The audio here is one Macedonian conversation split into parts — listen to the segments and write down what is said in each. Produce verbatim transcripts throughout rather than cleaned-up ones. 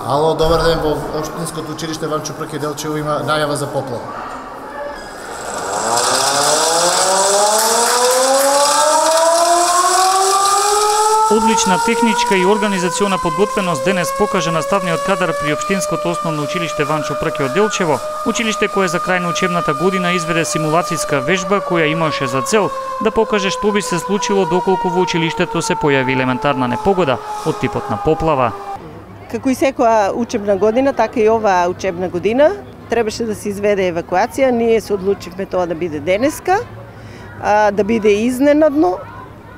Ало, добар ден, во Општинското училиште Ванчо Прке Делчево има најава за поплава. Одлична техничка и организациона подготвеност денес покажа наставниот кадар при Општинското основно училиште Ванчо Прке од Делчево, училиште кое за крај на учебната година изведе симулацијска вежба која имаше за цел да покаже што би се случило доколку во училиштето се појави елементарна непогода од типот на поплава. Како и секоја учебна година, така и оваа учебна година требаше да се изведе евакуација. Ние се одлучивме тоа да биде денеска, да биде изненадно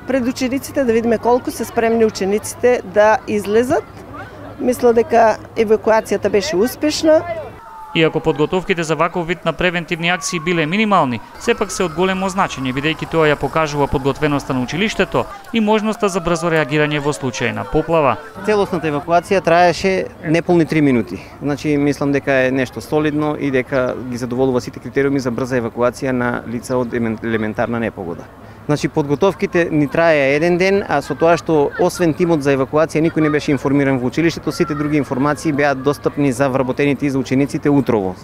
пред учениците, да видиме колку се спремни учениците да излезат. Мисля дека евакуацијата беше успешна. Иако подготовките за ваков вид на превентивни акции биле минимални, сепак се од големо значење, бидејќи тоа ја покажува подготвеноста на училиштето и можноста за брзо реагирање во случај на поплава. Целосната евакуација траеше неполни три минути. Значи, мислам дека е нешто солидно и дека ги задоволува сите критериуми за брза евакуација на лица од елементарна непогода. Значи, подготовките ни траеа еден ден, а со тоа што освен тимот за евакуација никој не беше информиран во училиштето, сите други информации беа достапни за вработените и за учениците утрово.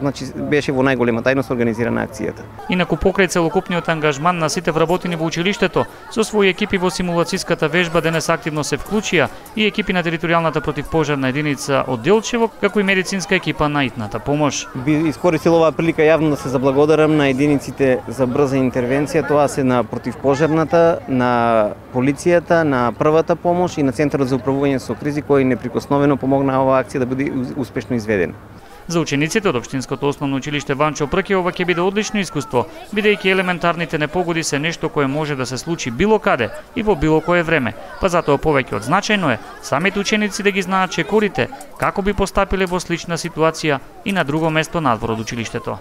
Значи, беше во најголема тајност организирана акцијата. Инаку покрај целокупниот ангажман на сите вработени во училиштето, со своји екипи во симулацијската вежба денес активно се вклучија и екипи на територијалната противпожарна единица од Делчево, како и медицинска екипа на итната помош. Би искористил оваа прилика јавно да се заблагодарам на единиците за брза интервенција, тоа се на противпожарната, на полицијата, на првата помош и на Центарот за управување со кризи, кој неприкосновено помогна оваа акција да биде успешно изведена. За учениците од Општинското основно училиште Ванчо Прке ова ќе биде одлично искуство, бидејќи елементарните непогоди се нешто кое може да се случи било каде и во било кое време, па затоа повеќе од значајно е самите ученици да ги знаат чекорите како би постапиле во слична ситуација и на друго место надвор од училиштето.